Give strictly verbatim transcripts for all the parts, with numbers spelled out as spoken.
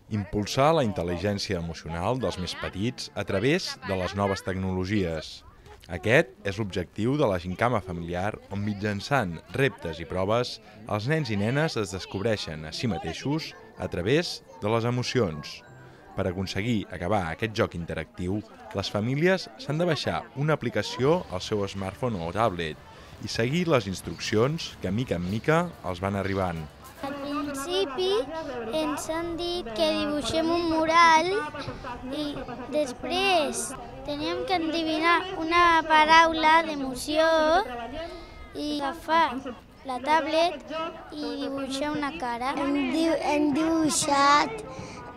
Impulsar la intel·ligència emocional dels més petits a través de les noves tecnologies. Aquest és l'objectiu de la Gincama Familiar, on mitjançant reptes i proves, els nens i nenes es descobreixen a si mateixos a través de les emocions. Per aconseguir acabar aquest joc interactiu, les famílies s'han de baixar una aplicació al seu smartphone o tablet i seguir les instruccions que, mica en mica, els van arribant. Al principi ens han dit que dibuixem un mural i després teníem que endevinar una paraula d'emoció i agafar la tablet i dibuixar una cara. Hem, diu hem dibuixat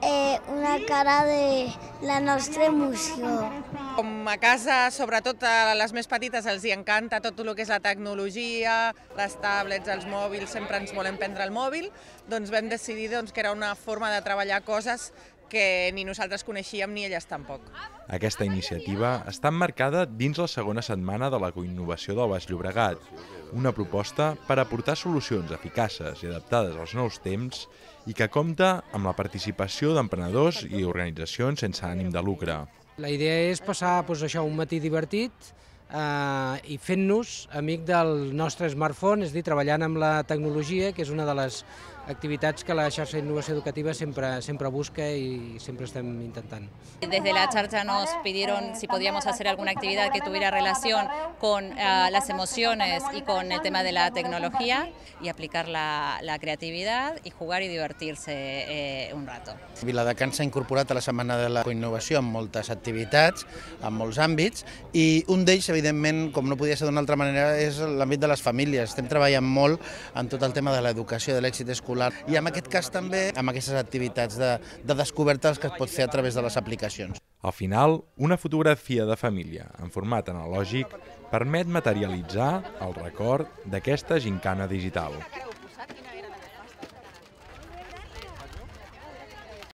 eh, una cara de la nostra emoció. Com a casa, sobretot a les més petites, els hi encanta tot el que és la tecnologia, les tablets, els mòbils, sempre ens volem prendre el mòbil, doncs vam decidir doncs, que era una forma de treballar coses que ni nosaltres coneixíem ni elles tampoc. Aquesta iniciativa està emmarcada dins la segona setmana de la coinnovació del Baix Llobregat, una proposta per aportar solucions eficaces i adaptades als nous temps i que compta amb la participació d'emprenedors i organitzacions sense ànim de lucre. La idea és passar doncs, això, un matí divertit eh, i fent-nos amic del nostre smartphone, és a dir, treballant amb la tecnologia, que és una de les activitats que la xarxa d'innovació educativa sempre, sempre busca y siempre estem intentant. Desde la charcha nos pidieron si podíamos hacer alguna actividad que tuviera relación con uh, las emociones y con el tema de la tecnología y aplicar la, la creatividad y jugar y divertirse eh, un rato. Viladecans s'ha incorporat a la Setmana de la Coinnovació amb moltes activitats, en molts àmbits, i un d'ells, evidentment, com no podia ser d'una altra manera, és l'àmbit de les famílies. Estem treballant molt en tot el tema de l'educació, de l'èxit escolar, i en aquest cas també amb aquestes activitats de, de descobertes que es pot fer a través de les aplicacions. Al final, una fotografia de família en format analògic permet materialitzar el record d'aquesta gincana digital.